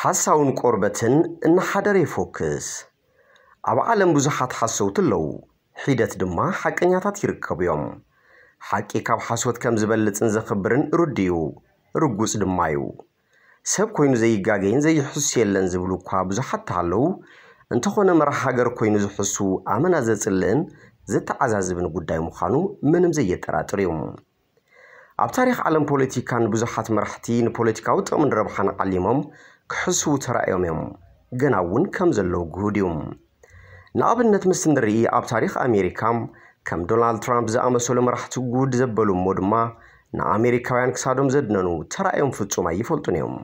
ሓሳውን ቆርበትን እናሓደረ ይፎክስ። ኣብ ዓለም ብዙሓት ሓሰውቲ ኣለዉ፣ ሒደት ድማ ሓቀኛታት ይርከቡ እዮም። ሓቂ ካብ ሓሶት ከም ዝበልጽን ዘኽብርን ርዱእ እዩ፣ ርጉጽ ድማ እዩ። ሰብ ኮይኑ ዘይጋገይን ዘይሕሱ የለን ዝብሉ እኳ ብዙሓት ተሃለዉ፣ እንተኾነ መራሕ ሃገር ኮይኑ ዝሕሱ ኣመና ዘጽልእን ዘተዓዛዝብን ጉዳይ ምዃኑ ምንም ዘየጠራጥር እዩ። ኣብ ታሪኽ ዓለም ፖለቲካ ንብዙሓት መራሕቲ ንፖለቲካዊ ጥቕምን ረብሓን ዓሊሞም ክሕስዉ ተራእዮም እዮም፣ ገና እውን ከም ዘለዉ ግሁድ እዩ። ንኣብነት ምስ ንርኢ ኣብ ታሪኽ ኣሜሪካ ከም ዶናልድ ትራምፕ ዝኣመሰሉ መራሕቲ ጉድ ዘበሉ እሞ ድማ ንኣሜሪካውያን ክሳዶም ዘድነኑ ተራእዮም ፍጹም ኣይፈልጡን እዮም።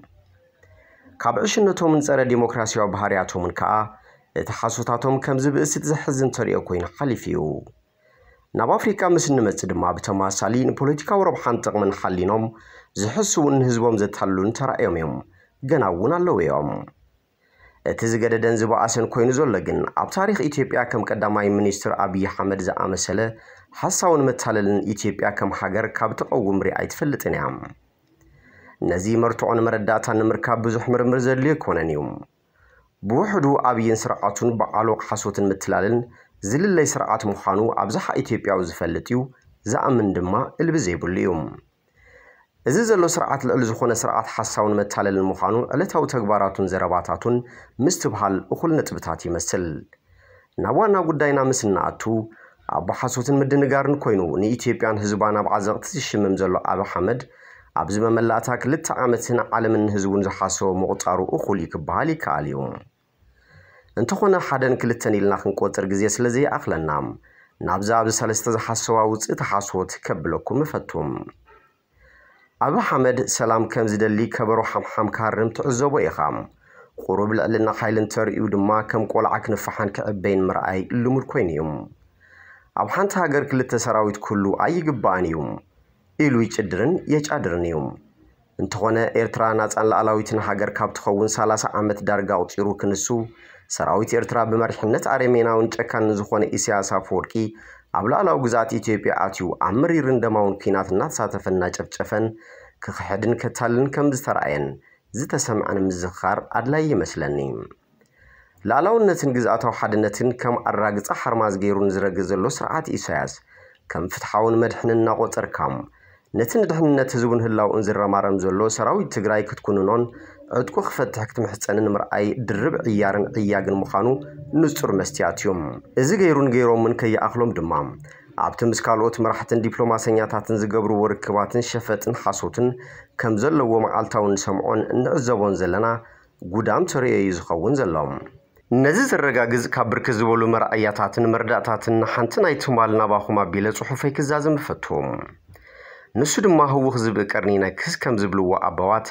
ካብ ዕሽነቶምን ጸረ ዲሞክራሲያዊ ባህርያቶምን ከኣ እቲ ሓሶታቶም ከም ዝብእስት ዘሕዝን ተርእዮ ኮይኑ ሓሊፉ እዩ። ናብ ኣፍሪካ ምስ እንመጽእ ድማ ብተማሳሊ ንፖለቲካዊ ረብሓን ጥቕምን ሓሊኖም ዝሕስውን ንህዝቦም ዘታልሉን ተራእዮም እዮም፣ ገና እውን ኣለዉ እዮም። እቲ ዝገደደን ዝበኣሰን ኮይኑ ዘሎ ግን ኣብ ታሪኽ ኢትዮጵያ ከም ቀዳማይ ሚኒስትር ኣብይ ኣሕመድ ዝኣመሰለ ሓሳውን መታለልን ኢትዮጵያ ከም ሃገር ካብ ትቐውም ሪኣ ኣይትፈልጥን እያ። ነዚ መርትዖን መረዳእታን ንምርካብ ብዙሕ ምርምር ዘድልዮ ኣይኮነን እዩ። ብውሕዱ ኣብይን ስርዓቱን ብዓሎቕ ሓሶትን ምትላልን ዝልለይ ስርዓት ምዃኑ ኣብዝሓ ኢትዮጵያዊ ዝፈልጥ እዩ፣ ዝኣምን ድማ እልቢ ዘይብሉ እዩ። እዚ ዘሎ ስርዓት ልዕሊ ዝኾነ ስርዓት ሓሳውን መታለልን ምዃኑ ዕለታዊ ተግባራቱን ዘረባታቱን ምስትብሃል እኹል ነጥብታት ይመስል። ናብ ዋና ጉዳይና ምስ እንኣቱ፣ ኣቦ ሓሶትን ምድንጋርን ኮይኑ ንኢትዮጵያን ህዝባን ኣብ ዓዘቕቲ ዝሽምም ዘሎ ኣብይ ኣሕመድ ኣብዚ መመላእታ ክልተ ዓመትን ዓለምን ህዝቡን ዝሓሰቦ ምቑጻሩ እኹል እዩ ክበሃል ይከኣል እዩ። እንተኾነ ሓደን ክልተን ኢልና ክንቆጽር ግዜ ስለ ዘይኣኽለና ናብዛ ኣብዚ ሰለስተ ዝሓሰዋ ውጽእቲ ሓሶት ከብለኩም እፈቱ። ኣብይ ኣሕመድ ሰላም ከም ዝደሊ ከበሮ ሓምሓም ክሃርም ትዕዘቦ ኢኻ። ቁሩብ ልዕልና ሓይሊ እንተርእዩ ድማ ከም ቆልዓ ክንፋሓን ክዕበይን ምርኣይ ልሙድ ኮይኑ እዩ። ኣብ ሓንቲ ሃገር ክልተ ሰራዊት ክህሉ ኣይግባእን እዩ ኢሉ ይጭድርን የጫድርን እዩ። እንተኾነ ኤርትራ ናጻን ሉዓላዊትን ሃገር ካብ ትኸውን ሰላሳ ዓመት ዳርጋ ኣቑጺሩ ክንሱ ሰራዊት ኤርትራ ብመሪሕነት ኣረሜናውን ጨካንን ዝኾነ ኢሳያስ ኣፈወርቂ ኣብ ሉዓላዊ ግዝኣት ኢትዮጵያ ኣትዩ ኣብ መሪርን ደማውን ኲናት እናተሳተፈን እናጨፍጨፈን ክኽሕድን ከታልልን ከም ዝተራእየን ዝተሰምዐን ምዝኽኻር ኣድላዪ ይመስለኒ። ሉዓላውነትን ግዝኣታዊ ሓድነትን ከም ኣራግጻ ሓርማዝ ገይሩ ንዝረግጽ ዘሎ ስርዓት ኢሳያስ ከም ፍትሓውን መድሕንን እናቖጸርካ ነቲ ንድሕንነት ህዝቡን ህላውኡን ዝረማረም ዘሎ ሰራዊት ትግራይ ክትኩንኖን ዕጥቁ ክፈትሕ ክትምሕጸንን ምርኣይ ድርብ ዕያርን ዕያግን ምዃኑ ንጹር መስትያት እዩ። እዚ ገይሩን ገይሮምን ከይኣኽሎም ድማ ኣብቲ ምስ ካልኦት መራሕትን ዲፕሎማሰኛታትን ዝገብርዎ ርክባትን ሸፈጥን ሓሶትን ከም ዘለዎ መዓልታዊ ንሰምዖን እንዕዘቦን ዘለና ጉዳም ተርእዮ እዩ ዝኸውን ዘሎ። ነዚ ዘረጋግጽ ካብ ብርክት ዝበሉ መርኣያታትን መርዳእታትን ሓንቲ ናይ ትማል ናባኹም ኣቢለ ጽሑፈይ ክዛዝም እፈቱ። ንሱ ድማ ህውኽ ዝብኢ ቀርኒ ይነክስ ከም ዝብልዎ ኣበዋት፣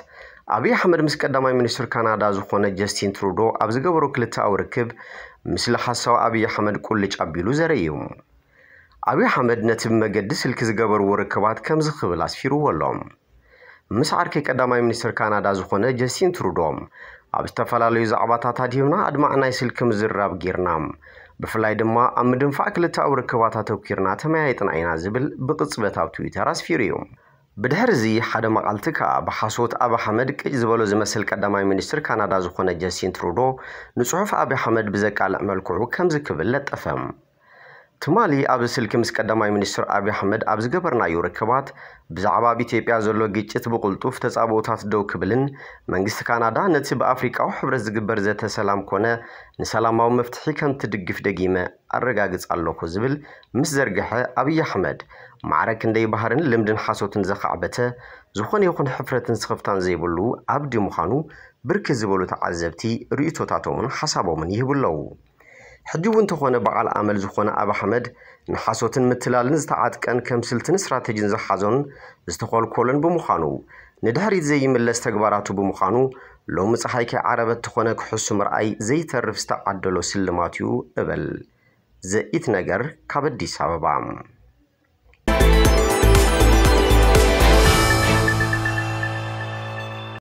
ኣብይ ኣሕመድ ምስ ቀዳማይ ሚኒስትር ካናዳ ዝኾነ ጀስቲን ትሩዶ ኣብ ዝገበሮ ክልተኣዊ ርክብ፣ ምስሊ ሓሳዊ ኣብይ ኣሕመድ ቁልጭ ኣቢሉ ዘርኢ እዩ። ኣብይ ኣሕመድ ነቲ ብመገዲ ስልኪ ዝገበርዎ ርክባት ከምዚ ክብል ኣስፊርዎ ኣሎ። ምስ ዓርከይ ቀዳማይ ሚኒስትር ካናዳ ዝኾነ ጀስቲን ትሩዶ ኣብ ዝተፈላለዩ ዛዕባታት ኣድሂብና ኣድማዕ ናይ ስልኪ ምዝርራብ ጌርና። ብፍላይ ድማ ኣብ ምድንፋዕ ክልተኣዊ ርክባት ኣተኲርና ተመያይጥና ኢና ዝብል ብቕጽበት ኣብ ትዊተር ኣስፊሩ እዩ። ብድሕሪ እዚ ሓደ መዓልቲ ከኣ ብሓሶት ኣብይ ኣሕመድ ቅጭ ዝበሎ ዝመስል ቀዳማይ ሚኒስትር ካናዳ ዝኾነ ጀስቲን ትሩዶ ንጽሑፍ ኣብይ ኣሕመድ ብዘቃልዕ መልክዑ ከምዚ ክብል ለጠፈ። ትማሊ ኣብ ስልኪ ምስ ቀዳማይ ሚኒስትር ኣብይ ኣሕመድ ኣብ ዝገበርናዮ ርክባት ብዛዕባ ኣብ ኢትዮጵያ ዘሎ ግጭት ብቕልጡፍ ተጻብኦታት ደው ክብልን መንግስቲ ካናዳ ነቲ ብኣፍሪቃዊ ሕብረት ዝግበር ዘተ ሰላም ኮነ ንሰላማዊ መፍትሒ ከም ትድግፍ ደጊመ ኣረጋግጽ ኣለኹ ዝብል ምስ ዘርግሐ ኣብይ ኣሕመድ ማዕረ ክንደይ ባህርን ልምድን ሓሶትን ዘኻዕበተ ዝኾነ ይኹን ሕፍረትን ስኽፍታን ዘይብሉ ኣብዲ ምዃኑ ብርክት ዝበሉ ተዓዘብቲ ርእይቶታቶምን ሓሳቦምን ይህቡ ኣለዉ። ሕጂ እውን እንተኾነ በዓል ኣመል ዝኾነ ኣብይ ኣሕመድ ንሓሶትን ምትላልን ዝተዓጥቀን ከም ስልትን ስትራተጂን ዝሓዞን ዝተኾልኮለን ብምዃኑ ንድሕሪት ዘይምለስ ተግባራቱ ብምዃኑ ሎሚ ፀሓይ ከይዓረበት ተኾነ ክሕሱ ምርኣይ ዘይተርፍ ዝተዓደሎ ስልማት እዩ እብል። ዘኢት ነገር ካብ ኣዲስ ኣበባ።